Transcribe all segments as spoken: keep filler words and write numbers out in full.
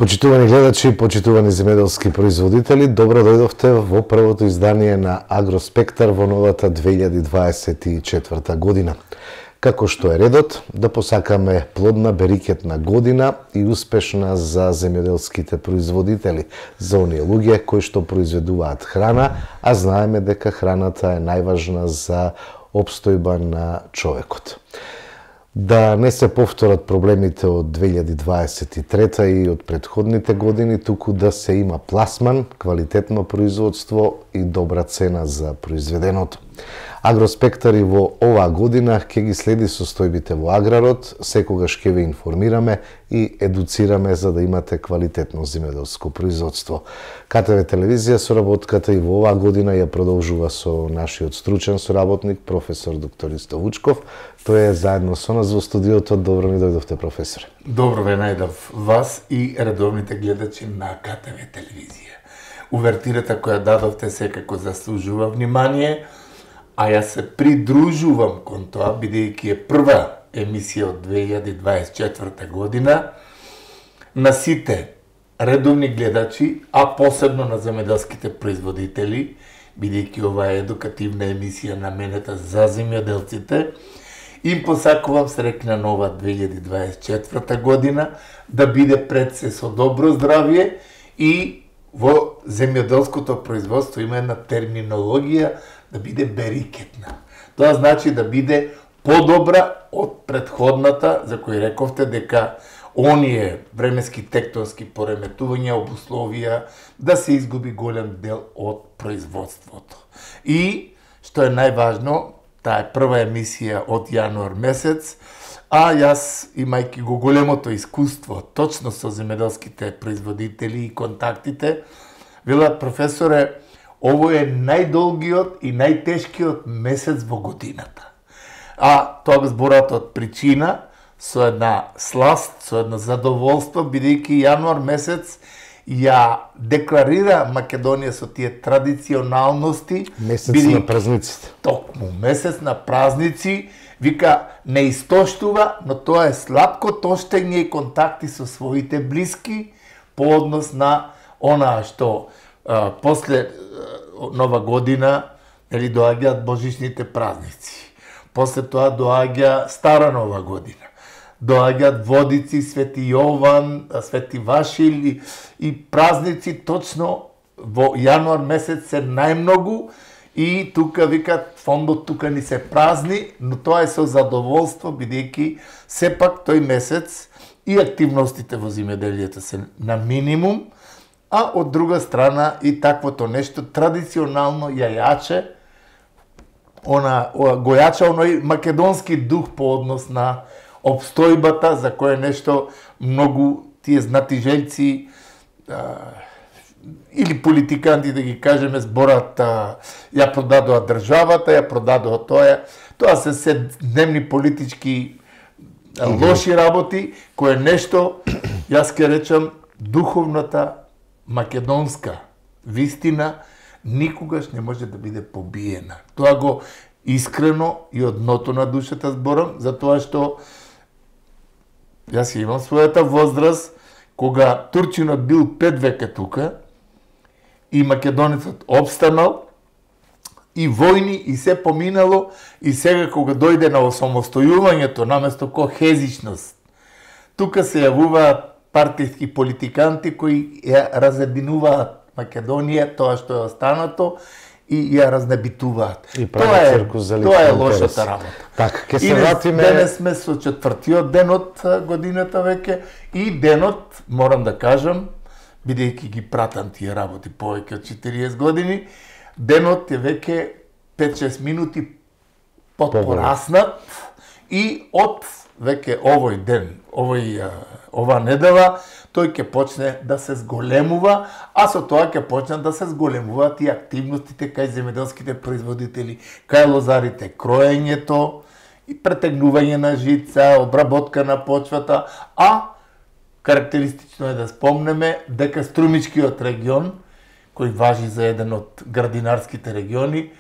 Почитувани гледачи, почитувани земјоделски производители, добро дојдовте во првото издание на Агроспектар во новата две илјади дваесет и четврта година. Како што е редот, да посакаме плодна берикетна година и успешна за земјоделските производители, за оние луѓе кои што произведуваат храна, а знаеме дека храната е најважна за опстојба на човекот. Да не се повторат проблемите од две илјади дваесет и трета и од претходните години, туку да се има пласман, квалитетно производство и добра цена за произведеното. Агроспектар и во оваа година ќе ги следи состојбите во аграрот, секогаш ќе ве информираме и едуцираме за да имате квалитетно земјоделско производство. КТВ телевизија соработката и во оваа година ја продолжува со нашиот стручен соработник, професор доктор Исто Вучков. Тој е заедно со нас во студиото. Добро ми дојдовте, професоре. Добро ве најдов вас и редовните гледачи на КТВ телевизија. Увертирата која дадовте секако заслужува внимание, а ја се придружувам кон тоа, бидејќи е прва емисија од две илјади дваесет и четврта година, на сите редовни гледачи, а посебно на земјоделските производители, бидејќи ова е едукативна емисија наменета за земјоделците, им посакувам среќна нова две илјади дваесет и четврта година, да биде пред се со добро здравје и во земјоделското производство има една терминологија да биде берикетна. Тоа значи да биде подобра од претходната, за кој рековте дека оние временски тектонски пореметувања обусловија да се изгуби голем дел од производството. И, што е најважно, таа е прва емисија од јануар месец, а јас, имајќи го големото искуство точно со земјоделските производители и контактите, велат, професоре, ово е најдолгиот и најтешкиот месец во годината. А тоа го зборат од причина, со една сласт, со едно задоволство, бидејќи јануар месец ја декларира Македонија со тие традиционалности. Месец бидејќи, на празниците. Токму, месец на празници, вика, не истоштува, но тоа е сладко тоштење и контакти со своите блиски по однос на онаа што а, после Нова година, нели, доаѓаат божичните празници. После тоа доаѓа Стара Нова година. Доаѓаат Водици, Свети Јован, Свети Вашил и, и празници точно во јануар месец се најмногу и тука викат фондот тука ни се празни, но тоа е со задоволство бидејќи сепак тој месец и активностите во земјоделието се на минимум, а од друга страна и таквото нешто традиционално ја јаче, она, го јача оној македонски дух по однос на обстојбата, за кое нешто многу тие знатижелци а, или политиканти, да ги кажеме, зборат, а, ја продадоа државата, ја продадоа тоа, тоа се се дневни политички а, лоши работи, кое нешто, јас ке речам, духовната македонска вистина никогаш не може да биде побиена. Тоа го искрено и од дното на душата зборам, затоа што јас имам својата возраст, кога турчинот бил пет веќе тука и македонецот обстанал и војни и се поминало, и сега кога дојде на осамостојувањето наместо кохезичност, тука се јавуваат партиски политиканти кои ја разединуваат Македонија, тоа што е останато, и ја разнебитуваат. И тоа е, тоа е лошата работа. Така, ќе се вратиме. Денес сме со четвртиот ден од годината веќе и денот, морам да кажам, бидејќи ги пратам тие работи повеќе од четириесет години, денот е веќе пет-шест минути потпораснат и од веќе овој ден, овој, ова недела, тој ќе почне да се зголемува, а со тоа ќе почне да се зголемуваат и активностите кај земјоделските производители, кај лозарите, кроењето и претегнување на жица, обработка на почвата, а карактеристично е да спомнеме дека Струмичкиот регион, кој важи за еден од градинарските региони,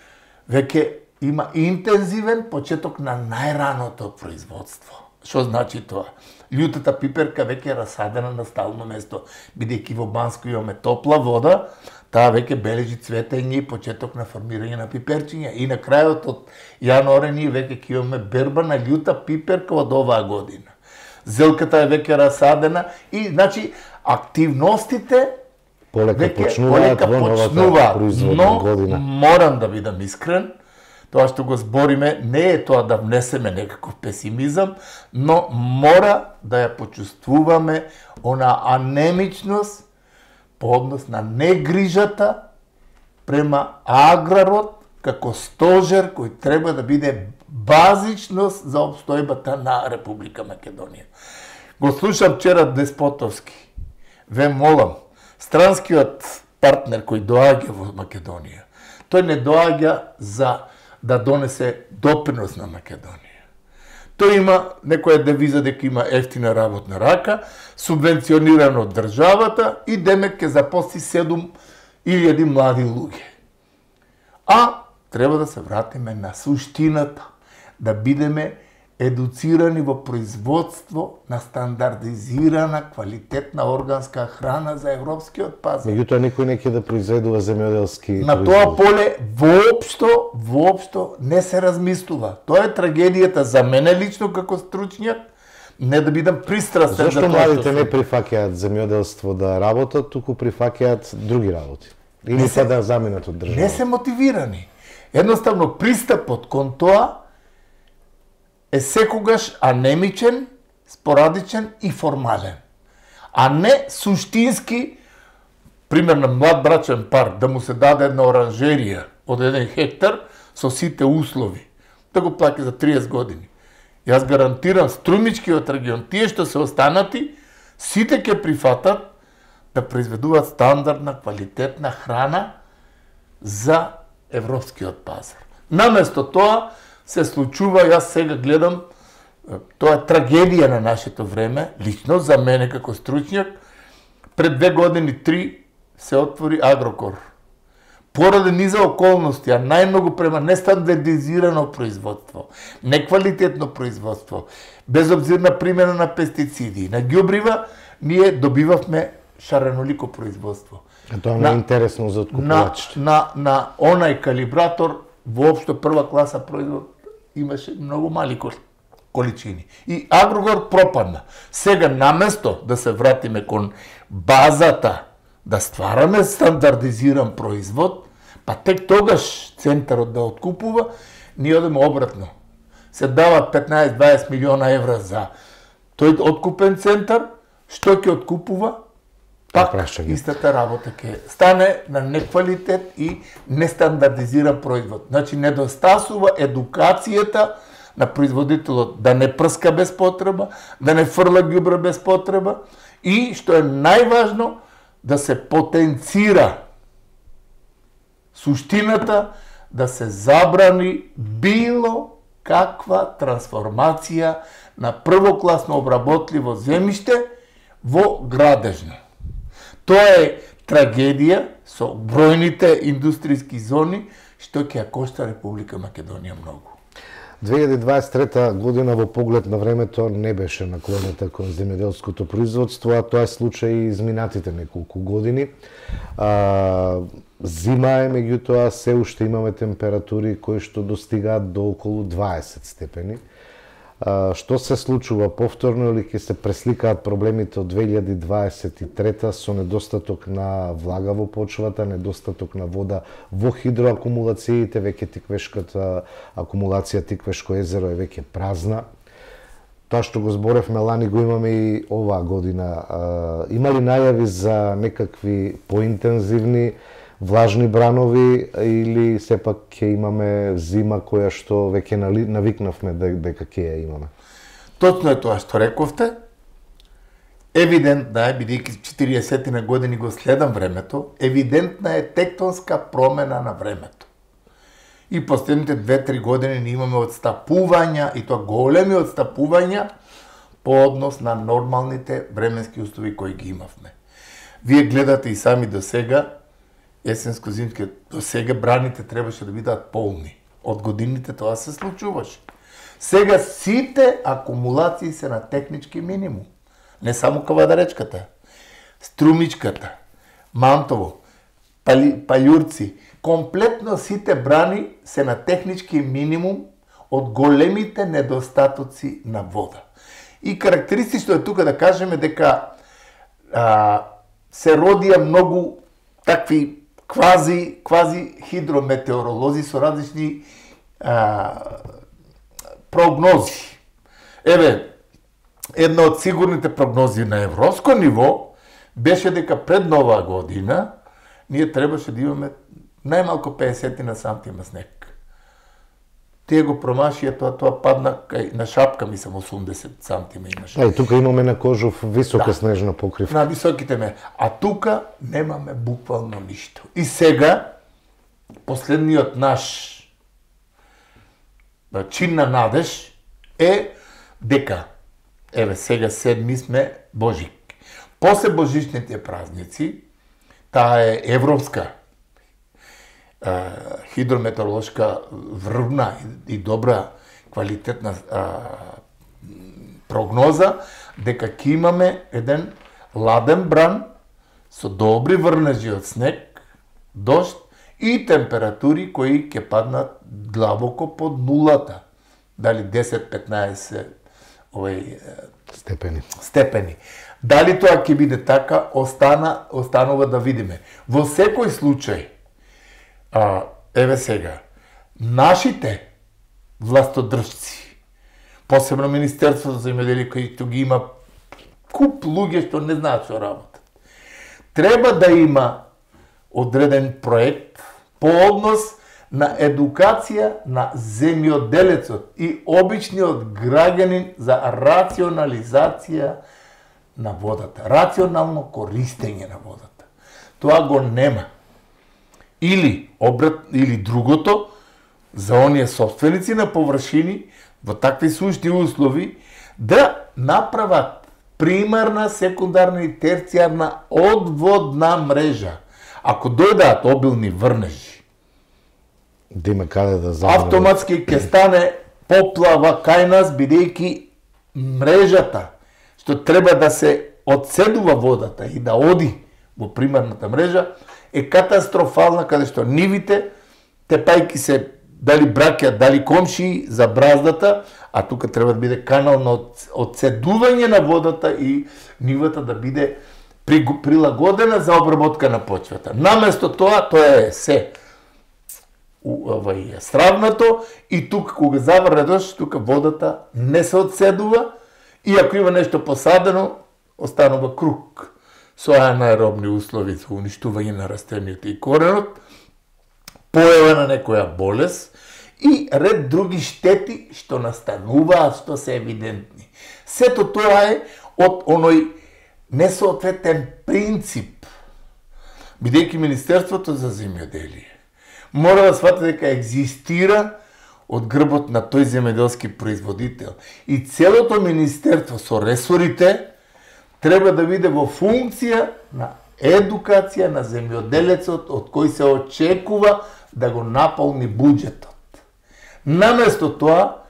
веќе има интензивен почеток на најраното производство. Што значи тоа? Љутата пиперка веќе е расадена на стално место, бидејќи во Банско имаме топла вода, таа веќе бележи цветење и почеток на формирање на пиперчиња. И на крајот од јануари ние веќе ќе имаме берба на љута пиперка од оваа година. Зелката е веќе расадена и значи активностите полека веќе почнуваат полека во новата почнуваат, производна но година. морам да бидам искрен, тоа што го збориме не е тоа да внесеме некаков песимизам, но мора да ја почувствуваме она анемичност по однос на негрижата према аграрот како стожер кој треба да биде базичност за обстојбата на Република Македонија. Го слушам вчера Деспотовски. Ве молам, странскиот партнер кој доаѓа во Македонија, тој не доаѓа за да донесе допринос на Македонија. Тој има некоја девиза дека има ефтина работна рака, субвенционирано од државата и демек ќе запосли седум илјади млади луѓе. А треба да се вратиме на суштината, да бидеме едуцирани во производство на стандардизирана, квалитетна органска храна за европскиот пазар. Меѓутоа никој не ќе да произведува земјоделски На тоа поле воопшто, воопшто не се размислува. Тоа е трагедијата за мене лично како стручњак, не да бидам пристрастен. Зошто младите не прифаќаат земјоделство да работат, туку прифаќаат други работи? Или па да заминат од држава? Не се мотивирани. Едноставно пристапот кон тоа е секогаш анемичен, спорадичен и формален. А не суштински, пример на млад брачен пар, да му се даде една оранжерија од еден хектар со сите услови, да го плаќа за триесет години. Јас гарантирам струмичкиот регион, тие што се останати, сите ќе прифатат да произведуваат стандардна, квалитетна храна за европскиот пазар. Наместо тоа се случува, јас сега гледам, тоа е трагедија на нашето време, лично за мене како стручњак, пред две години, три, се отвори Агрокор. Поради низа околности, а најмногу према нестандардизирано производство, неквалитетно производство, безобзирна примена на пестициди, на ѓубрива, ние добивавме шаренолико производство. А тоа не е интересно за откупувачите. На, на, на онај калибратор, воопшто прва класа производ, имаше многу мали количини. И Агрокор пропадна. Сега, наместо да се вратиме кон базата, да ствараме стандардизиран производ, па тек тогаш центарот да откупува, ние одеме обратно. Се дават петнаесет до дваесет милиона евра за тој откупен центар, што ќе откупува? Пак истата работа ќе стане на неквалитет и нестандардизиран производ. Значи, недостасува едукацијата на производителот да не прска без потреба, да не фрла ѓубре без потреба и, што е најважно, да се потенцира суштината, да се забрани било каква трансформација на првокласно обработливо земјиште во градежно. Тоа е трагедија со бројните индустријски зони што ќе ја кошта Република Македонија многу. две илјади дваесет и трета година во поглед на времето не беше наклонета кон земјоделското производство, а тоа е случај и изминатите неколку години. А, зима е, меѓутоа се уште имаме температури кои што достигаат до околу дваесет степени. А, што се случува повторно или ќе се пресликаат проблемите од две илјади дваесет и трета со недостаток на влага во почвата, недостаток на вода во хидроакумулациите, веќе Тиквешката акумулација Тиквешко езеро е веќе празна. Тоа што го зборевме лани го имаме и оваа година. А, има ли најави за некакви поинтензивни влажни бранови или сепак ќе имаме зима која што веќе навикнавме дека ќе ја имаме? Точно е тоа што рековте. Евидентна е, бидејќи четириесет години го следам времето, евидентна е тектонска промена на времето. И последните две-три години ние имаме отстапувања, и тоа големи отстапувања по однос на нормалните временски услови кои ги имавме. Вие гледате и сами до сега, есенско-зимски, до сега браните требаше да бидат полни. Од годините тоа се случуваше. Сега сите акумулации се на технички минимум. Не само Кавадаречката, Струмичката, Мантово, Пали, Палјурци, комплетно сите брани се на технички минимум од големите недостатоци на вода. И карактеристично е тука да кажеме дека а, се родија многу такви квази, квази хидрометеоролози со различни а, прогнози. Еве, една од сигурните прогнози на европско ниво беше дека пред нова година ние требаше да имаме најмалку педесет на сантима снег. Тие го промашија, тоа тоа падна кај на шапка, мислам осумдесет сантима имаше. А и тука имаме на Кожов висока да. снежна покривка. На високите ме. А тука немаме буквално ништо. И сега последниот наш чин на надеж е дека еве сега седми сме Божик. После божичните празници, таа е европска а, хидрометеоролошка врвна и, и добра квалитетна а, прогноза дека ќе имаме еден ладен бран со добри врнежи од снег, дожд и температури кои ќе паднат длабоко под нулата. Дали десет-петнаесет овој степени. степени. Дали тоа ќе биде така, остана, останува да видиме. Во секој случај, а, еве сега, нашите властодржци, посебно Министерството за земјоделие, кој ги има куп луѓе што не знаат што работат, треба да има одреден проект по однос на едукација на земјоделецот и обичниот граѓанин за рационализација на водата, рационално користење на водата. Тоа го нема. Или обрат, или другото, за оние собственици на површини во такви сушни услови да направат примарна, секундарна и терцијарна одводна мрежа. Ако дојдат обилни врнежи, да има каде да замрне, автоматски ќе стане поплава кај нас, бидејќи мрежата што треба да се одседува водата и да оди во примарната мрежа е катастрофална, каде што нивите, тепајки се дали браќа, дали комшии за браздата, а тука треба да биде канал на одседување на водата и нивата да биде прилагодена за обработка на почвата. Наместо тоа, тоа е се овај стравнато и тука кога заврне дожд, тука водата не се одседува и ако има нешто посадено, останува круг со анаеробни услови за уништување на растенијата и коренот, појава на некоја болест и ред други штети што настануваат, што се евидентни. Сето тоа е од оној несоодветен принцип, бидејќи Министерството за земјоделие мора да свати дека екзистира од грбот на тој земјоделски производител. И целото министерство со ресорите треба да биде во функција на едукација на земјоделецот од кој се очекува да го наполни буџетот. Наместо тоа,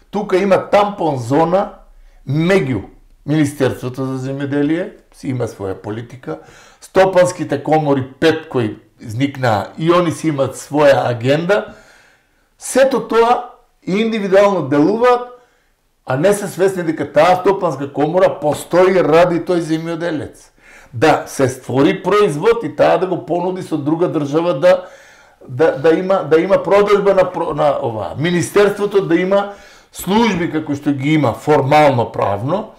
тука има тампон зона меѓу Министерството за земјоделие, си има своја политика, стопанските комори пет кои изникнаа и они си имат своја агенда, сето тоа индивидуално делуваат, а не се свесни дека таа стопанска комора постои ради тој земјоделец. Да се створи производ и таа да го понуди со друга држава да да да има да има продажба на на ова. Министерството да има служби како што ги има формално правно,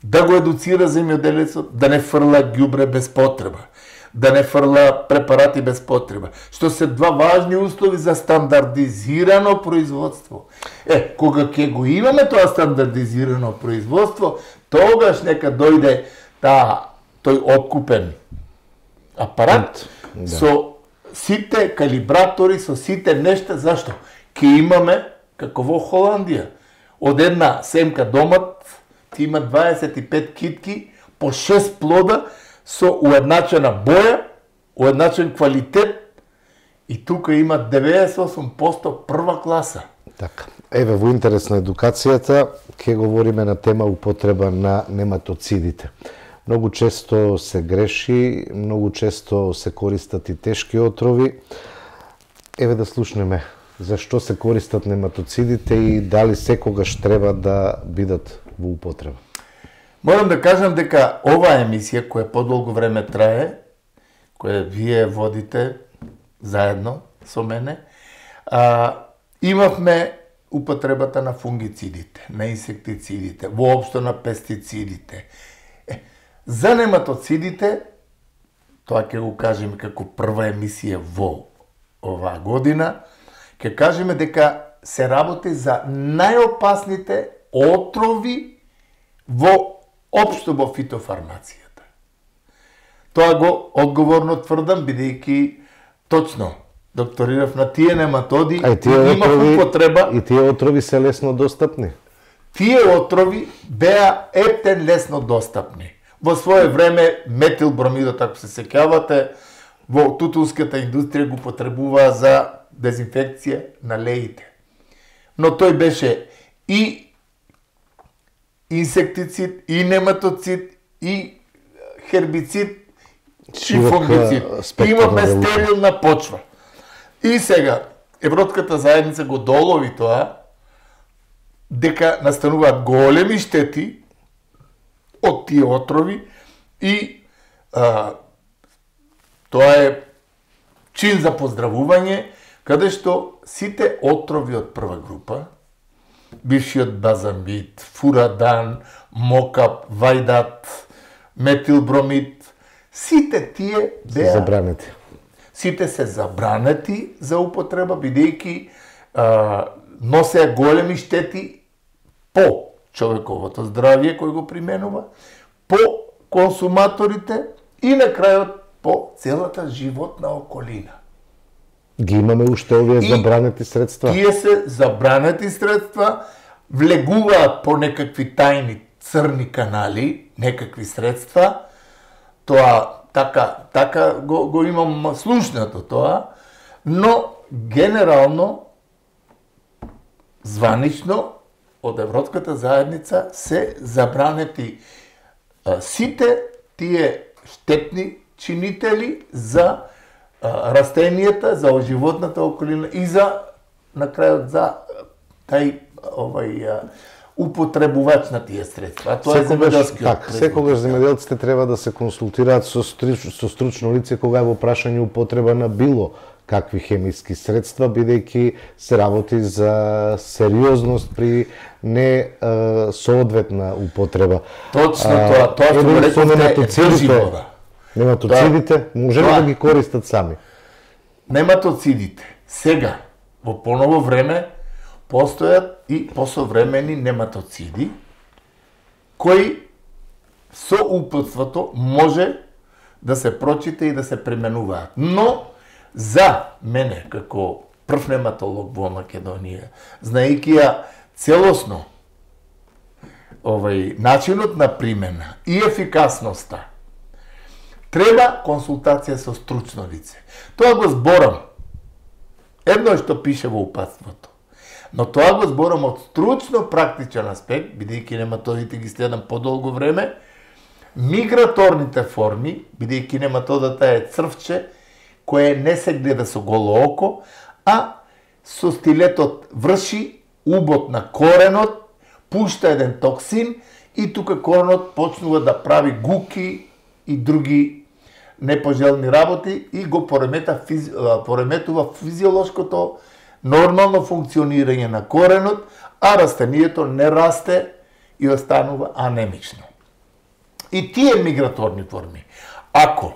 да го едуцира земјоделецот да не фрла ѓубре без потреба, да не фрла препарати без потреба, што се два важни услови за стандардизирано производство. Е, кога ќе го имаме тоа стандардизирано производство, тогаш нека дојде таа тој откупен апарат да. Со сите калибратори, со сите нешта, зашто? Ке имаме, како во Холандија, од една семка домат, ти има дваесет и пет китки, по шест плода, со уедначена боја, уедначен квалитет, и тука има деветдесет и осум проценти прва класа. Така. Еве, во интерес на едукацијата, ќе говориме на тема употреба на нематоцидите. Многу често се греши, многу често се користат и тешки отрови. Еве да слушнеме зашто се користат нематоцидите и дали секогаш треба да бидат во употреба. Морам да кажам дека оваа емисија, која подолго време трае, која вие водите заедно со мене, а, имавме употребата на фунгицидите, на инсектицидите, воопшто на пестицидите. Е, за нематоцидите, тоа ќе го кажеме како прва емисија во оваа година, ќе кажеме дека се работи за најопасните отрови во општо во фитофармацијата. Тоа го одговорно тврдам, бидејќи точно докторирав на тие нематоди А и тие имав отрови, употреба. и тие отрови се лесно достапни. Тие отрови беа ептен лесно достапни. Во свое време метилбромидот, ако се сеќавате, во тутунската индустрија го потребуваа за дезинфекција на леите. Но тој беше и инсектицид, и нематоцид, и хербицид, и Широк, фунгицид. спектар Имавме на работа. стерилна почва. И сега, Европската заедница го долови тоа, дека настануваат големи штети од тие отрови и а, тоа е чин за поздравување, каде што сите отрови од прва група, бившиот базамид, фурадан, мокап, вајдат, метилбромид, сите тие беа Забранети. сите се забранети за употреба, бидејќи носеа големи штети по човековото здравје кој го применува, по консуматорите и на крајот по целата животна околина. Ги имаме уште овие И забранети средства. Тие се забранети средства, влегуваат по некакви тајни црни канали, некакви средства. Тоа така така го, го имам слушнато тоа, но генерално званично од Европската заедница се забранети а, сите тие штетни чинители за а, растенијата, за животната околина и за на крајот за тај овај а, употребувач на тие средства. А тоа е земјоделскиот так, производ. секогаш земјоделците треба да се консултираат со, струч, со стручно лице кога е во прашање употреба на било какви хемиски средства, бидејќи се работи за сериозност при не е, соодветна употреба. Точно тоа, тоа што го рековте е држи вода. Нематоцидите, може ли Тоа. да ги користат сами? Нематоцидите сега во поново време постојат и посовремени нематоциди кои со упатството може да се прочита и да се применуваат. Но за мене како прв нематолог во Македонија, знаејќи ја целосно овај начинот на примена и ефикасноста, треба консултација со стручно лице. Тоа го зборам. Едно е што пише во упатството. Но тоа го зборам од стручно практичен аспект, бидејќи нематодите ги следам подолго време, миграторните форми, бидејќи нематодата е црвче, кое не се гледа со голо око, а со стилетот врши убот на коренот, пушта еден токсин и тука коренот почнува да прави гуки и други непожелни работи и го поремета, физи... пореметува физиолошкото нормално функционирање на коренот, а растението не расте и останува анемично. И тие миграторни форми, ако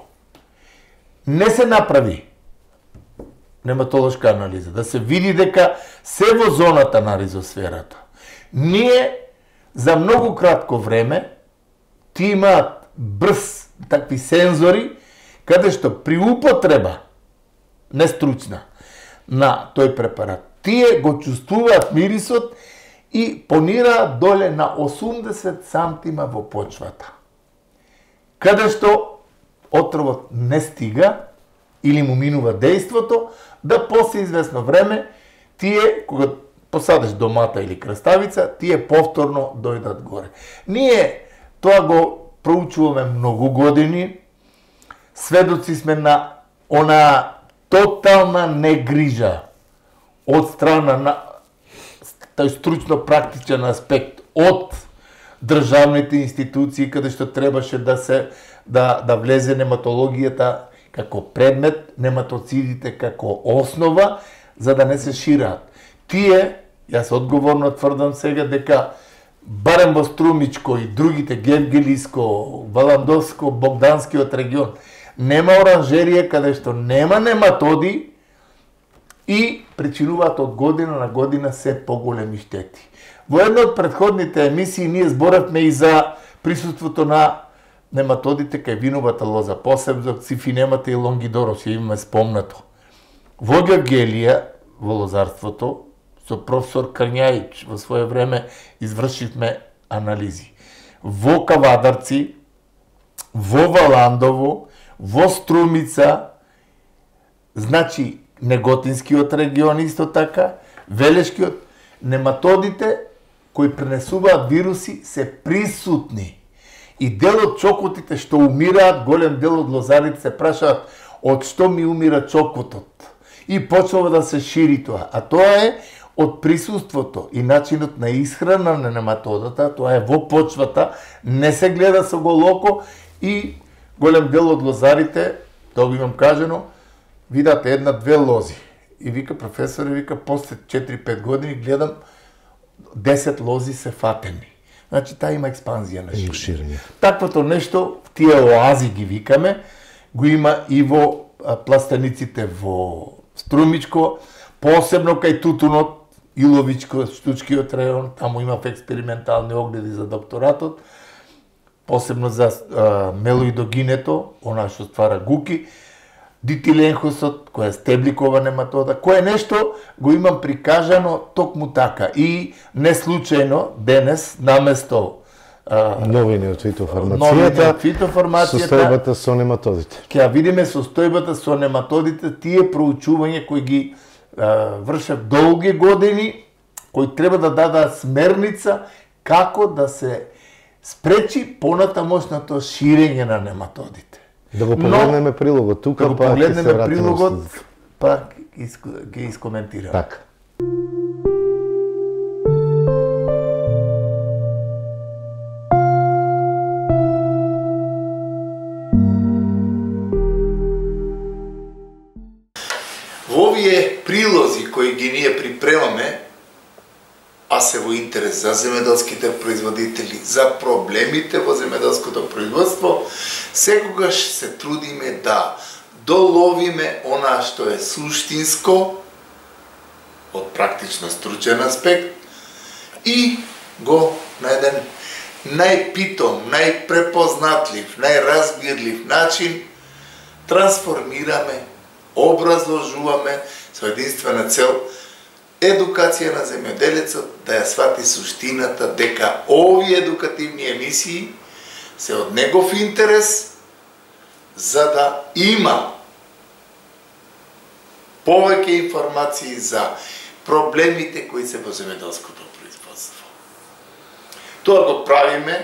не се направи нематолошка анализа, да се види дека се во зоната на ризосферата, ние за многу кратко време ти имаат брз такви сензори, каде што при употреба нестручна на тој препарат, тие го чувствуваат мирисот и понираат доле на осумдесет сантима во почвата. Каде што отровот не стига или му минува дејството, да после известно време тие, кога посадеш домата или краставица, тие повторно дојдат горе. Ние тоа го проучуваме многу години, сведоци сме на она тотална негрижа од страна на тај стручно-практичен аспект од државните институции каде што требаше да се да да влезе нематологијата како предмет, нематоцидите како основа, за да не се шираат. Тие, јас одговорно тврдам сега дека барем во Струмичко и другите Гевгелиско, Валандовско, Богданскиот регион нема оранжерија каде што нема нематоди и причинуваат од година на година се поголеми штети. Во една од претходните емисии ние зборавме и за присуството на нематодите кај виновата лоза, посебно цифинемата и лонгидорос, ја имаме спомнато. Во Гевгелија, во лозарството, со професор Крњајич во свое време извршивме анализи. Во Кавадарци, во Валандово, во Струмица, значи Неготинскиот регион исто така, Велешкиот, нематодите кои пренесуваат вируси се присутни. И дел од чокотите што умираат, голем дел од лозарите се прашаат од што ми умира чокотот. И почнува да се шири тоа. А тоа е од присуството и начинот на исхрана на нематодата, тоа е во почвата, не се гледа со голоко и голем дел од лозарите, тоа го имам кажено, видат една-две лози. И вика професор, и вика после четири-пет години гледам десет лози се фатени. Значи таа има експанзија на ширење. Таквото нешто, тие оази ги викаме, го има и во пластениците во Струмичко, посебно кај тутунот, Иловичко, Штучкиот рајон, таму имав експериментални огледи за докторатот, посебно за а, мелоидогинето, она што ствара гуки, дитиленхосот, која е стебликова нематода, кое нешто го имам прикажано токму така. И не случајно денес наместо а, новини од фитофармацијата, фитофармацијата, состојбата со нематодите. Ќе видиме состојбата со нематодите, тие проучувања кои ги а, вршат долги години, кои треба да дадат смерница како да се спречи понатамошното ширење на нематодите. Да го погледнеме прилогот тука, да па ќе се вратиме. Да го погледнеме прилогот, па ќе искоментираме. Така. Во овие прилози кои ги ние припремаме, а се во интерес за земеделските производители, за проблемите во земеделското производство, секогаш се трудиме да доловиме она што е суштинско од практично стручен аспект и го на еден најпитом, најпрепознатлив, најразбирлив начин трансформираме, образложуваме со единствена цел едукација на земјоделецот да ја свати суштината дека овие едукативни емисии се од негов интерес за да има повеќе информации за проблемите кои се во земјоделското производство. Тоа го правиме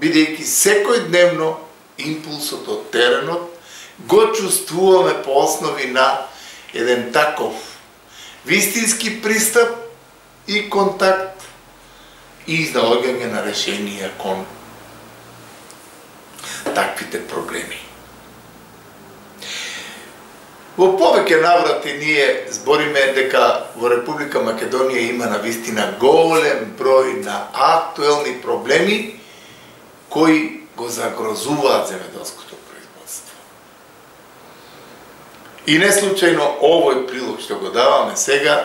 бидејќи секојдневно импулсот од теренот го чувствуваме по основи на еден таков вистински пристап и контакт и изнаоѓање на решенија кон таквите проблеми. Во повеќе наврати ние збориме дека во Република Македонија има навистина голем број на актуелни проблеми кои го загрозуваат земеделското производство. И не случајно овој прилог што го даваме сега,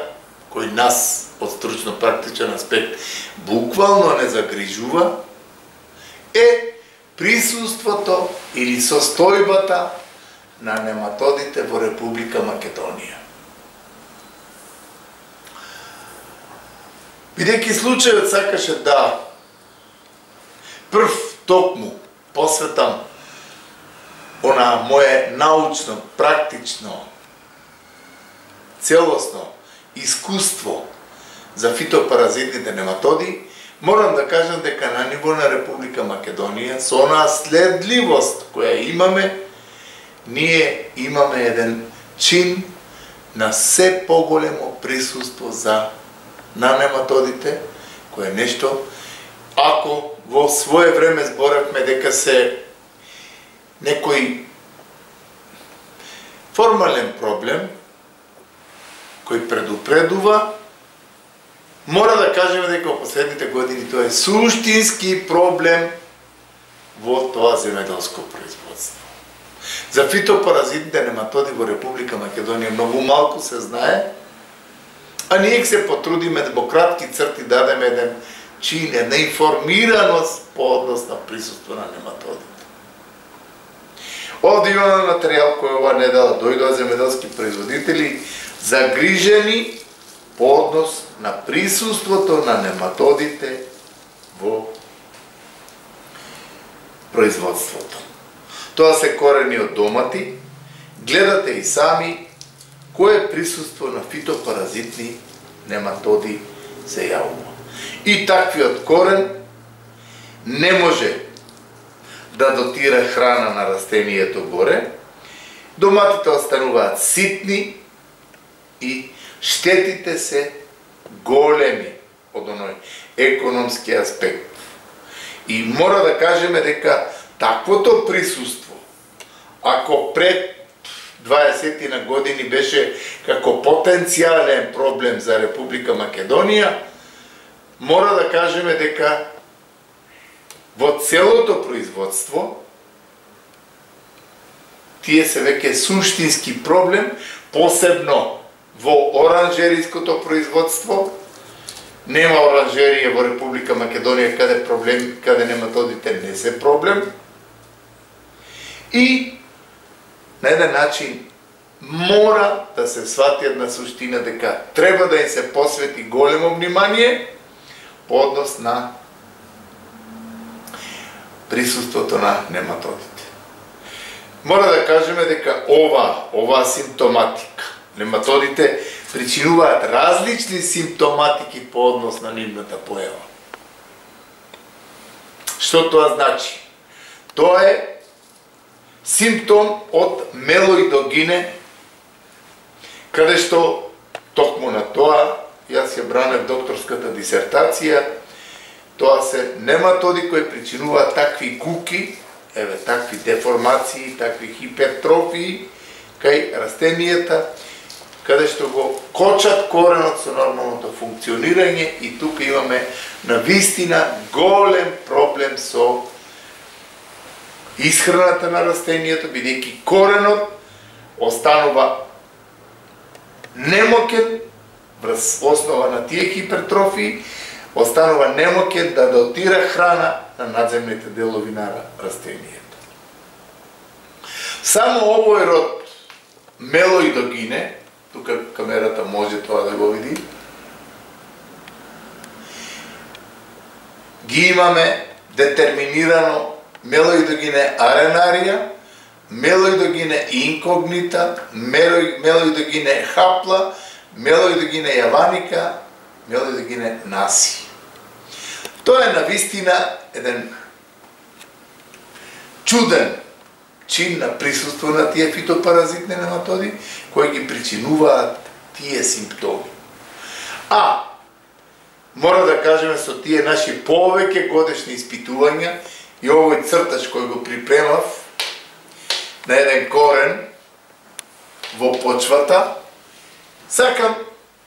кој нас од стручно-практичен аспект буквално не загрижува, е присуството или состојбата на нематодите во Република Македонија. Бидејќи случајот сакаше да прв токму посветам она моје научно, практично, целосно искуство за фитопаразитните нематоди, морам да кажам дека на ниво на Република Македонија, со онаа следливост која имаме, ние имаме еден чин на се поголемо присуство за на нематодите, кое нешто, ако во свое време зборавме дека се некој формален проблем кој предупредува, мора да кажеме дека во последните години тоа е суштински проблем во тоа земјоделско производство. За фитопаразитните нематоди во Република Македонија многу малку се знае, а ние се потрудиме да во кратки црти дадеме еден чин, една информираност по однос на присуство на нематодите. Овде имаме материјал кој ова недела дојдоа земјоделски производители загрижени по однос на присуството на нематодите во производството. Тоа се корени од домати, гледате и сами кое присуство на фитопаразитни нематоди се јавува. И таквиот корен не може да дотира храна на растението горе, доматите остануваат ситни и штетите се големи од оној економски аспект. И мора да кажеме дека таквото присуство, ако пред дваесет години беше како потенцијален проблем за Република Македонија, мора да кажеме дека во целото производство тие се веќе суштински проблем, посебно во оранжериското производство. Нема оранжерија во Република Македонија каде проблем, каде нематодите не се проблем. И на еден начин мора да се свати една суштина дека треба да им се посвети големо внимание по однос на присуството на нематодите. Мора да кажеме дека ова, ова симптоматика, нематодите причинуваат различни симптоматики по однос на нивната појава. Што тоа значи? Тоа е симптом од мелоидогине, каде што токму на тоа јас ја бранев докторската дисертација. Тоа се нематоди кои причинуваат такви куки, еве такви деформации, такви хипертрофии кај растенијата, каде што го кочат коренот со нормалното функционирање, и тука имаме навистина голем проблем со исхраната на растенијето, бидејќи коренот останува немокен врз основа на тие хипертрофии, останува немокен да дотира храна на надземните делови на растенијето. Само овој род мелоидогине, тука камерата може тоа да го види, ги имаме детерминирано мелоидогине аренарија, мелоидогине инкогнита, мелоидогине хапла, мелоидогине јаваника, мелоидогине наси. Тоа е навистина еден чуден чин на присуство на тие фитопаразитни нематоди кои ги причинуваат тие симптоми. А мора да кажеме со тие наши повеќе годишни испитувања и овој цртач кој го припремав на еден корен во почвата, сакам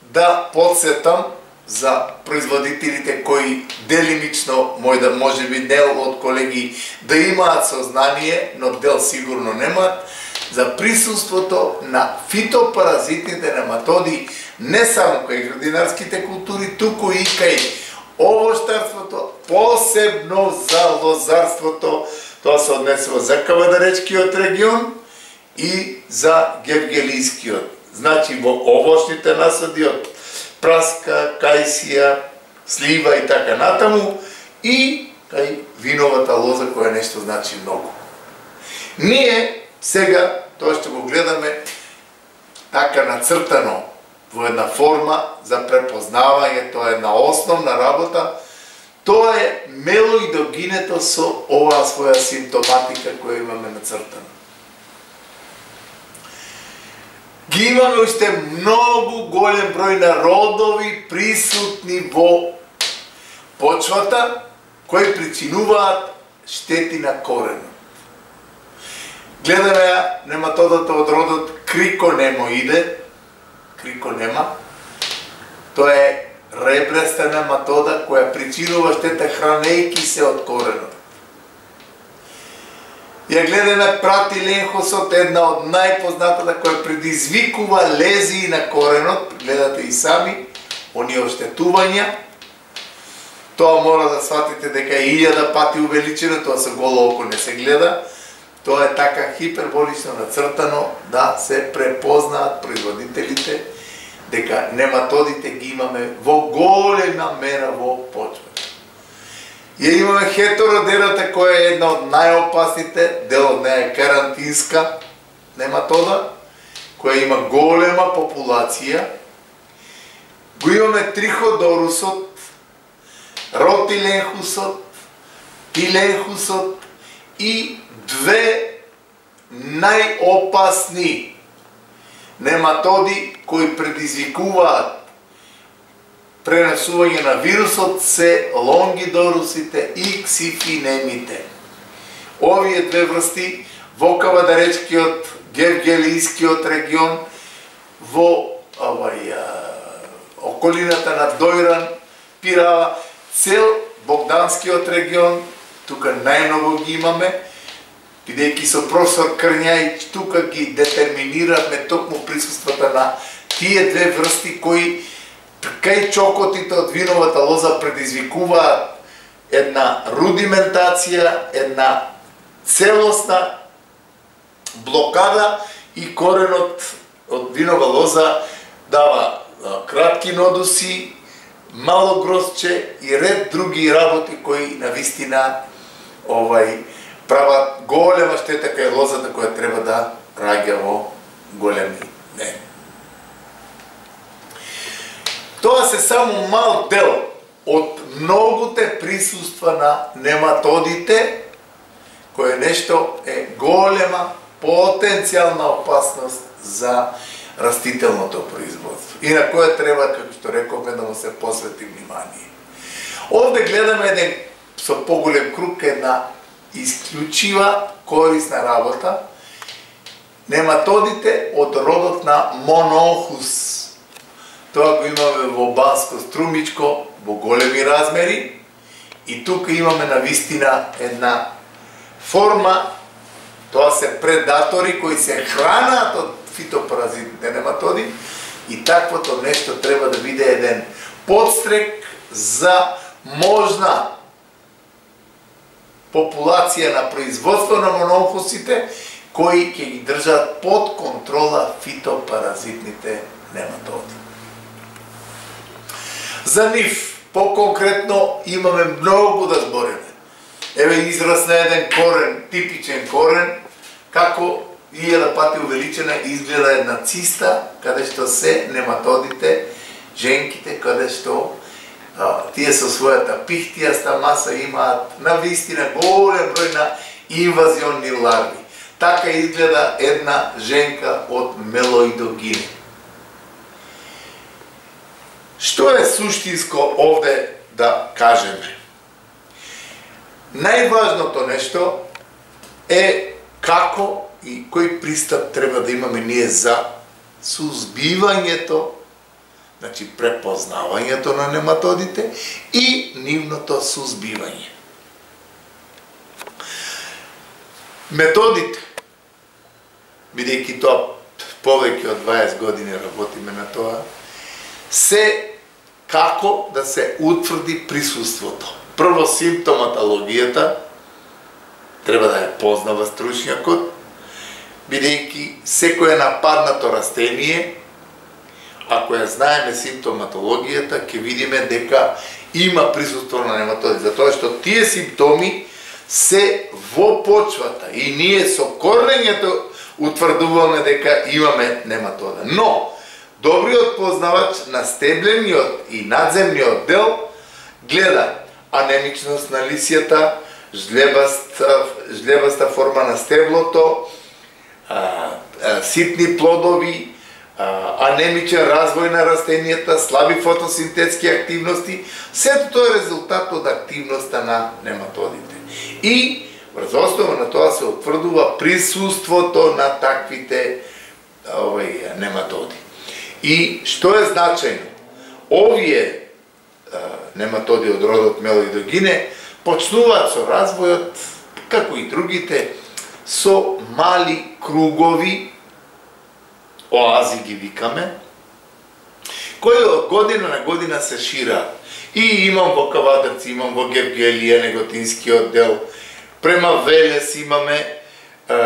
да подсетам за производителите кои делимично мој да може би дел од колеги да имаат сознание, но дел сигурно немаат, за присуството на фитопаразитните нематоди не само кај градинарските култури, туку и кај овоштарството, посебно за лозарството. Тоа се однесува за кавадаречкиот регион и за гевгелискиот. Значи во овошните насади од праска, кајсија, слива и така натаму, и кај виновата лоза која нешто значи многу. Ние сега тоа што го гледаме така нацртано во една форма за препознавање, тоа е една основна работа. Тоа е мелоидогинето со оваа своја симптоматика која имаме нацртана. Ги имаме уште многу голем број народови присутни во почвата, кои причинуваат штети на коренот. Гледаме ја нематодата од родот криконемоиде, криконема, тоа е ребреста нематода која причинува штета хранејки се од коренот. Ја гледаме пратиленхосот, една од најпознатата која предизвикува лезии на коренот, гледате и сами, оние оштетувања. Тоа мора да сватите дека е илјада пати увеличено, тоа со голо око не се гледа. Тоа е така хиперболично нацртано да се препознаат производителите дека нематодите ги имаме во голема мера во почвата. Ја имаме хетеродерата која е една од најопасните, дел од неја е карантинска нематода, која има голема популација. Го имаме триходорусот, ротиленхусот, тиленхусот и две најопасни нематоди кои предизвикуваат пренесување на вирусот се лонгидорусите и ксифинемите. Овие две врсти во Кавадаречкиот, Гевгелискиот регион, во овај, околината на Дојран, Пирава, цел Богданскиот регион, тука најмногу ги имаме, бидејќи со професор Крњајич тука ги детерминираме токму присуствата на тие две врсти кои кај чокотите од виновата лоза предизвикуваат една рудиментација, една целосна блокада и коренот од винова лоза дава кратки нодуси, мало грозче и ред други работи кои навистина овај прават голема штета кај лозата која треба да раѓа во големи не. Тоа се само мал дел од многуте присуства на нематодите, кој нешто е голема потенцијална опасност за растителното производство и на која треба, како што рековме, да му се посвети внимание. Овде гледаме еден со поголем круг, една исклучива корисна работа, нематодите од родот на Мононхус. Тоа го имаме во Банско струмичко во големи размери и тука имаме навистина една форма, тоа се предатори кои се хранат од фитопаразитните нематоди и таквото нешто треба да биде еден подстрек за можна популација на производство на мононхусите кои ќе ги држат под контрола фитопаразитните нематоди. За нив, по-конкретно, имаме многу да збориме. Еве израз на еден корен, типичен корен, како илјада пати увеличена изгледа една циста, каде што се нематодите, женките, каде што а, тие со својата пихтијаста маса имаат навистина голем број на инвазионни ларви. Така изгледа една женка од мелоидогине. Што е суштинско овде да кажеме? Најважното нешто е како и кој пристап треба да имаме ние за сузбивањето, значи препознавањето на нематодите и нивното сузбивање. Методите, бидејќи тоа повеќе од дваесет години работиме на тоа, се како да се утврди присуството. Прво симптоматологијата треба да ја познава стручњакот, бидејќи секое нападнато растение, ако ја знаеме симптоматологијата, ќе видиме дека има присуство на нематоди, затоа што тие симптоми се во почвата и ние со корнењето утврдуваме дека имаме нематода. Но, Добриот познавач на стеблениот и надземниот дел гледа анемичност на лисјата, жлебаста, жлебаста форма на стеблото, а, а, ситни плодови, а, анемичен развој на растенијата, слаби фотосинтетски активности. Сето тоа е резултат од активноста на нематодите. И врз основа на тоа се утврдува присуството на таквите овај, нематоди. И што е значајно? Овие а, нематоди од родот Мелоидогине почнуваат со развојот, како и другите, со мали кругови, оази ги викаме, кои од година на година се шираат. И имам во Кавадарци, имам во Гевгелија, неготинскиот дел, према Велес имаме, е,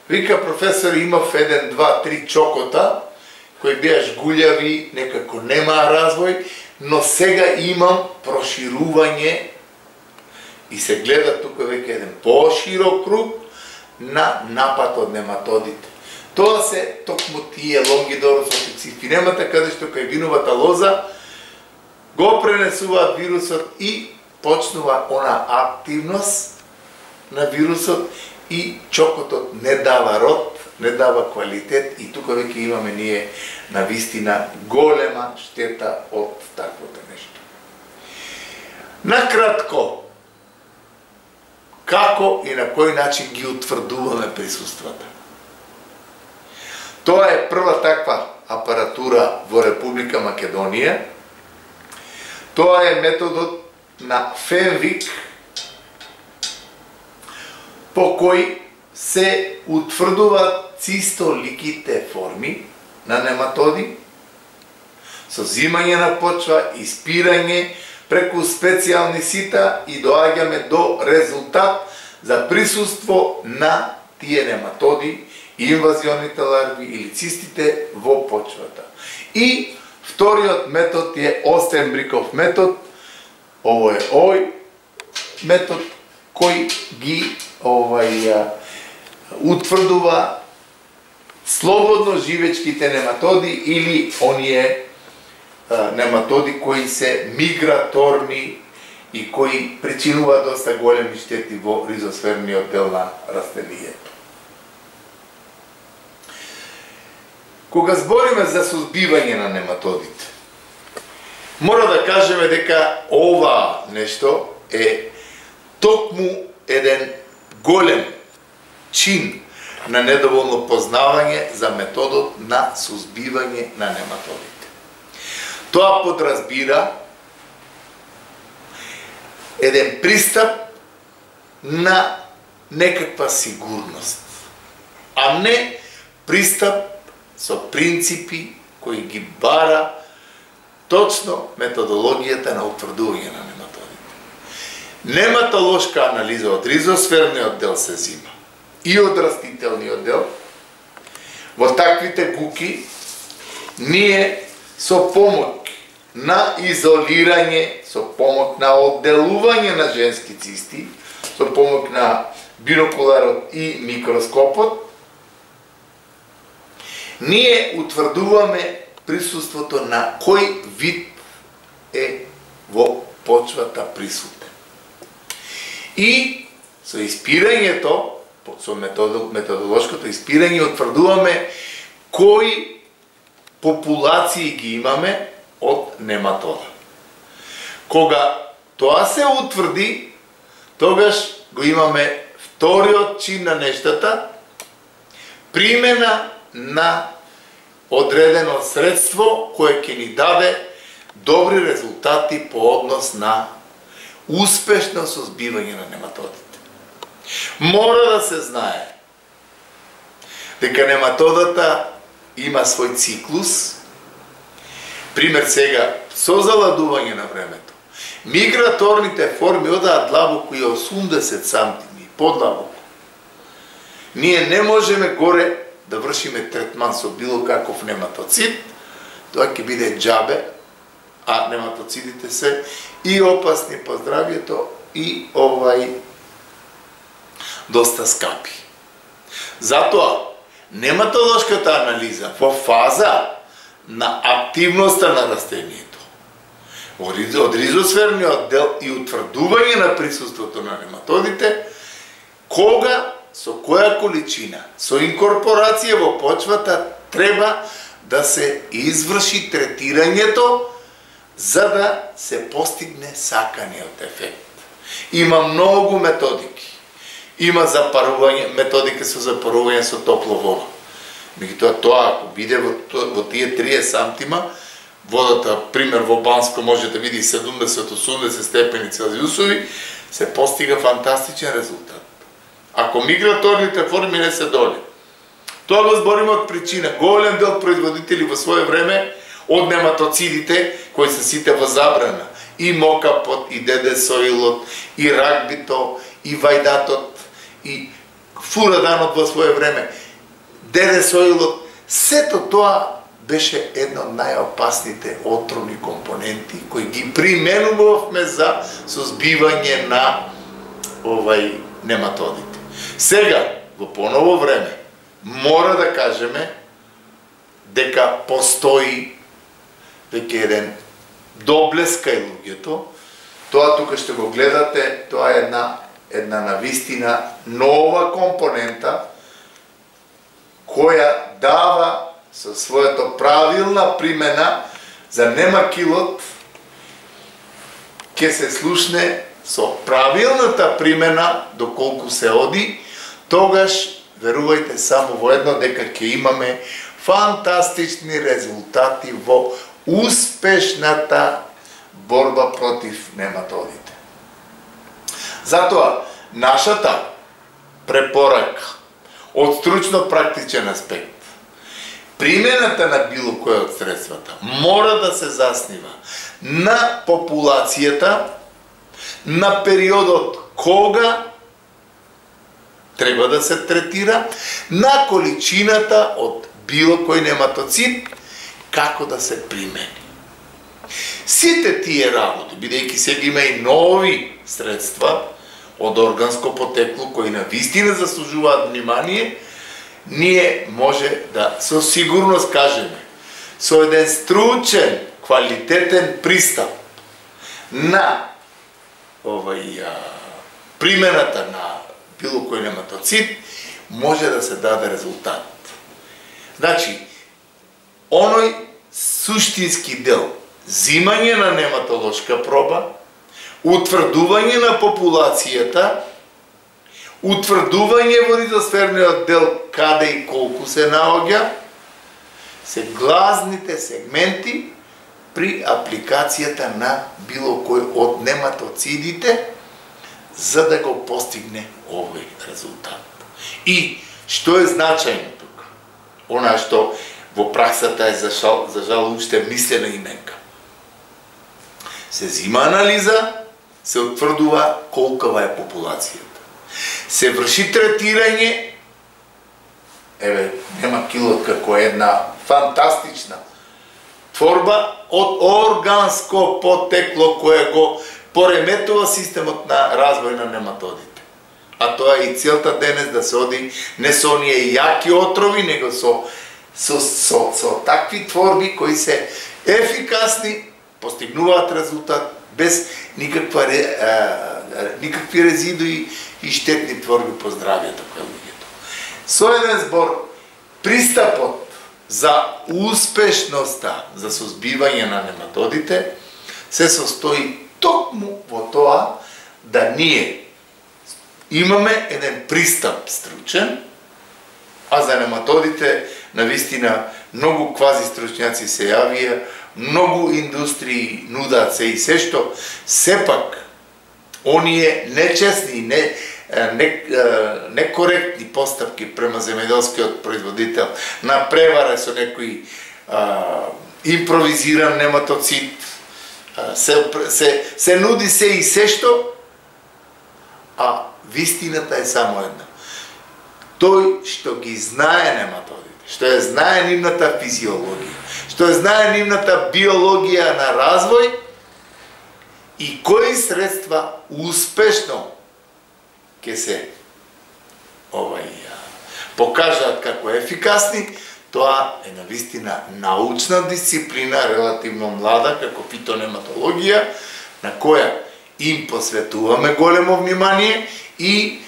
вика професор, имав еден, два, три чокота, кои беа жгулјави, некако немаа развој, но сега имам проширување и се гледа тука веќе еден поширок круг на напад од нематодите. Тоа се токму тие лонгидорус официфинемата, каде што кај виновата лоза го пренесуваат вирусот и почнува она активност на вирусот и чокотот не дава род, не дава квалитет и тука веќе имаме ние на вистина голема штета од таквото нешто. Накратко, како и на кој начин ги утврдуваме присуствата? Тоа е прва таква апаратура во Република Македонија. Тоа е методот на Фенвик, по кој се утврдуваат цистоликите форми на нематоди, со зимање на почва, испирање преку специјални сита и доаѓаме до резултат за присуство на тие нематоди, инвазионите ларви или цистите во почвата. И вториот метод е Остенбриков метод. Ово е овој метод кој ги овај утврдува слободно живечките нематоди или оние а, нематоди кои се миграторни и кои причинуваат доста големи штети во ризосферниот дел на растенијето. Кога збориме за сузбивање на нематодите, мора да кажеме дека ова нешто е токму еден голем чин на недоволно познавање за методот на сузбивање на нематодите. Тоа подразбира еден пристап на некаква сигурност, а не пристап со принципи кои ги бара точно методологијата на утврдување на нематодите. Нематолошка анализа од ризосферниот дел се зима и од растителниот дел. Во таквите гуки ние со помоќ на изолирање, со помоќ на одделување на женски цисти, со помоќ на бинокуларот и микроскопот, ние утврдуваме присуството на кој вид е во почвата присутен. И со испирањето, со методолошкото испирање, утврдуваме кои популации ги имаме од нематода. Кога тоа се утврди, тогаш го имаме вториот чин на нештата, примена на одредено средство кое ќе ни даде добри резултати по однос на успешно сузбивање на нематодите. Мора да се знае дека нематодата има свој циклус. Пример сега, со заладување на времето, миграторните форми одаат длабоко и осумдесет сантими, подлабоко. Ние не можеме горе да вршиме третман со било каков нематоцид, тоа ќе биде џабе, а нематоцидите се и опасни по здравјето и овај доста скапи. Затоа, нематолошката анализа во фаза на активноста на растението. Од ризосферниот дел и утврдување на присуството на нематодите, кога, со која количина, со инкорпорација во почвата треба да се изврши третирањето за да се постигне саканиот ефект. Има многу методики. Има запарување, методика со запарување со топло вода. Меѓутоа тоа ако биде во, во тие триесет сантима, водата, пример во Банско може да види седумдесет до осумдесет степени Целзиусови, се постига фантастичен резултат. Ако миграторните форми не се доли. Тоа го збориме од причина. Голем дел производители во свое време од нематоцидите, кои се сите во забрана, и мокапот, и дедесоилот, и рагбито, и вајдатот, и фураданот во свое време, дедесоилот, сето тоа беше едно од најопасните отровни компоненти кои ги применувавме за созбивање на овај нематодите. Сега, во поново време, мора да кажеме дека постои веќе еден доблес кај луѓето. Тоа тука ще го гледате, тоа е една една навистина нова компонента која дава со својата правилна примена за немакилот ќе се слушне со правилната примена доколку се оди, тогаш верувајте само во едно дека ќе имаме фантастични резултати во успешната борба против нематодите. Затоа, нашата препорака од стручно-практичен аспект, примената на било кој од средствата мора да се заснива на популацијата, на периодот кога треба да се третира, на количината од било кој нематоцид, како да се примени. Сите тие работи, бидејќи сега има и нови средства од органско потекло кои на вистина заслужуваат внимание, ние може да со сигурност кажеме со еден стручен, квалитетен пристап на овај а, примената на било кој нематоцид може да се даде резултат. Значи, оној суштински дел, зимање на нематолошка проба, утврдување на популацијата, утврдување во ризосферниот дел каде и колку се наоѓа, се глазните сегменти при апликацијата на било кој од нематоцидите за да го постигне овој резултат. И што е значајно тука? Она што во праксата е за жал, за жал уште мислена именка. Се зима анализа, се утврдува колкава е популацијата. Се врши третирање, еве, нема килот како една фантастична творба од органско потекло кое го пореметува системот на развој на нематодите. А тоа е и целта денес да се оди не со оние јаки отрови, него со со, со, со такви творби кои се ефикасни, постигнуваат резултат без никаква а, никакви резидуи и штетни творби по здравјето кај луѓето. Со еден збор, пристапот за успешноста за созбивање на нематодите се состои токму во тоа да ние имаме еден пристап стручен, а за нематодите навистина многу квази стручњаци се јавија, многу индустрии нудаат се и се што сепак оние нечестни, не, не, некоректни постапки према земјоделскиот производител на превара со некој а, импровизиран нематоцид, а, се, се, се нуди се и се што, а вистината е само една. Тој што ги знае нематодите, што ја знае нивната физиологија, што ја знае нивната биологија на развој и кои средства успешно ќе се овај покажаат како ефикасни, Тоа е навистина научна дисциплина, релативно млада, како фитонематологија, на која им посветуваме големо внимание и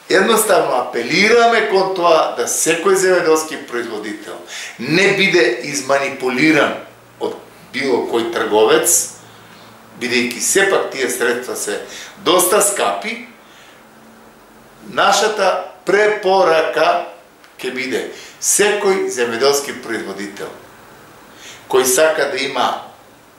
едноставно апелираме кон тоа да секој земјоделски производител не биде изманипулиран од било кој трговец, бидејќи сепак тие средства се доста скапи. Нашата препорака ќе биде секој земјоделски производител кој сака да има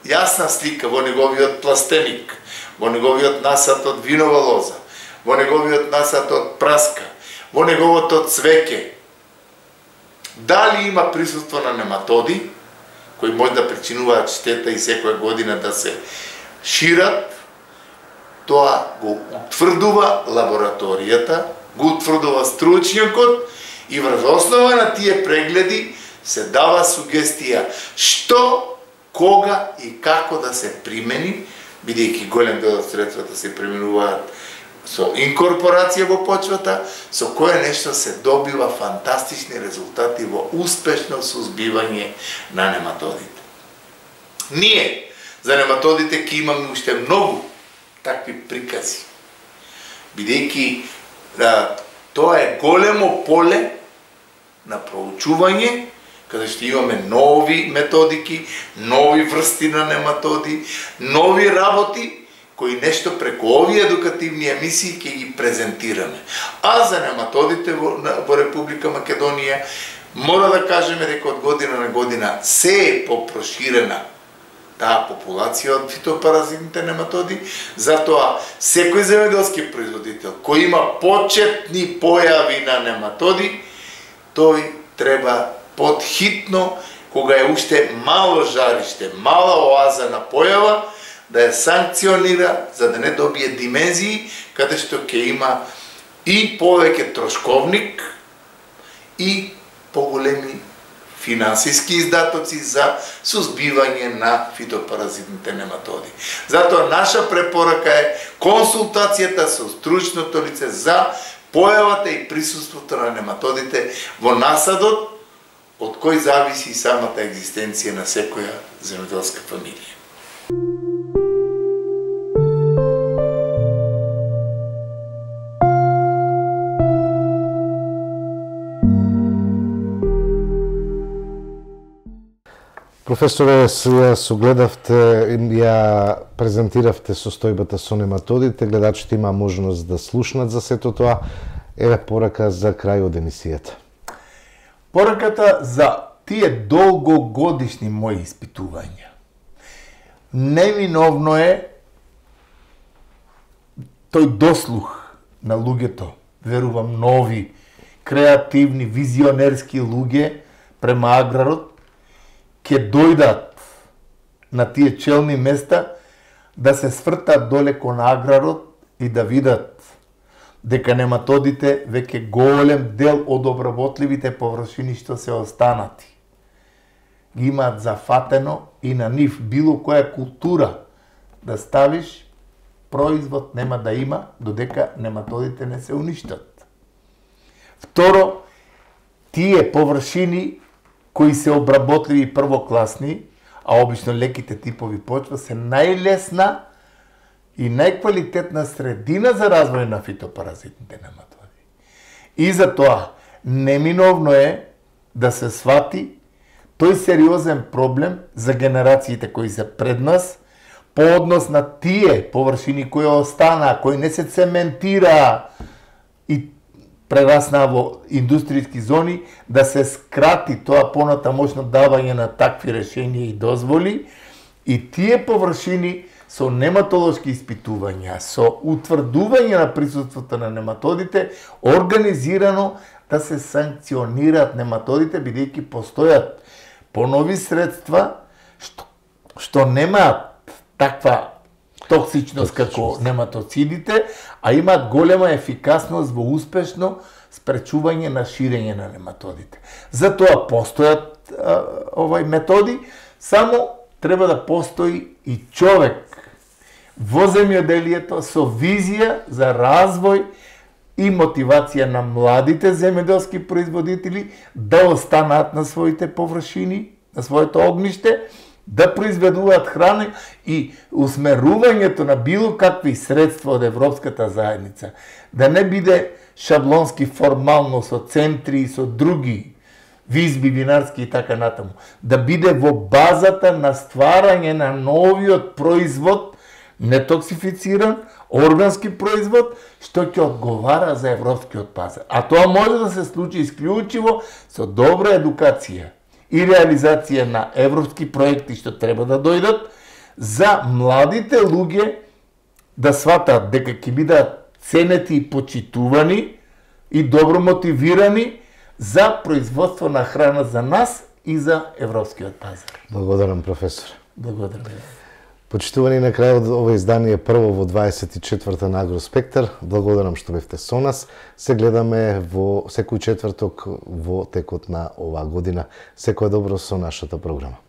јасна слика во неговиот пластеник, во неговиот насад од винова лоза, во неговиот насад од праска, во неговото цвеќе, дали има присуство на нематоди кои може да причинуваат штета и секоја година да се шират, тоа го утврдува лабораторијата, го утврдува стручњакот и врз основа на тие прегледи се дава сугестија што, кога и како да се примени, бидејќи голем дел од средствата се применуваат со инкорпорација во почвата, со кое нешто се добива фантастични резултати во успешно сузбивање на нематодите. Ние за нематодите ќе имаме уште многу такви прикази, бидејќи да, тоа е големо поле на проучување, каде што имаме нови методики, нови врсти на нематоди, нови работи, кои нешто преку овие едукативни емисии ќе ги презентираме. А за нематодите во, во Република Македонија, мора да кажеме дека од година на година се е попроширена таа популација од фитопаразитните нематоди, затоа секој земјоделски производител кој има почетни појави на нематоди, тој треба подхитно, кога е уште мало жариште, мала оаза на појава, да ја санкционира за да не добие димензии, каде што ќе има и повеќе трошковник и поголеми финансиски издатоци за сузбивање на фитопаразитните нематоди. Затоа наша препорака е консултацијата со стручното лице за појавата и присуството на нематодите во насадот, од кој зависи самата екзистенција на секоја земјоделска фамилија. Професоре, сега согледавте, ја презентиравте состојбата со нематодите, гледачите има можност да слушнат за сето тоа. Еве порака за крај од емисијата. Пораката за тие долгогодишни мои испитувања. Неминовно е тој дослух на луѓето, верувам нови, креативни, визионерски луѓе према аграрот, ќе дојдат на тие челни места да се свртат доле кон аграрот и да видат дека нематодите веќе голем дел од обработливите површини што се останати ги имаат зафатено и на нив било која култура да ставиш, производ нема да има додека нематодите не се уништат. Второ, тие површини кои се обработливи и првокласни, а обично леките типови почва, се најлесна и најквалитетна средина за развој на фитопаразитните нематоди. И затоа неминовно е да се свати тој сериозен проблем за генерациите кои се пред нас, по однос на тие површини кои останаа, кои не се цементираа и прераснаа во индустријски зони, да се скрати тоа понатамошно давање на такви решенија и дозволи, и тие површини со нематолошки испитувања, со утврдување на присуството на нематодите, организирано да се санкционираат нематодите, бидејќи постојат понови средства што, што немаат таква токсичност како нематоцидите, а имаат голема ефикасност во успешно спречување на ширење на нематодите. Затоа постојат а, овај методи, само треба да постои и човек во земјоделието со визија за развој и мотивација на младите земјоделски производители да останат на своите површини, на своето огниште, да произведуваат храна и усмерувањето на било какви средства од Европската заедница, да не биде шаблонски формално со центри и со други визби винарски и така натаму, да биде во базата на стварање на новиот производ, нетоксифициран, органски производ, што ќе одговара за европскиот пазар. А тоа може да се случи исклучиво со добра едукација и реализација на европски проекти што треба да дојдат за младите луѓе да сватат дека ќе бидат ценети и почитувани и добро мотивирани за производство на храна за нас и за европскиот пазар. Благодарам, професор. Благодарам. Почитувани, на крајот ова издание прво во дваесет и четврта на Агроспектар. Благодарам што бевте со нас. Се гледаме во секој четврток во текот на оваа година. Секое добро со нашата програма.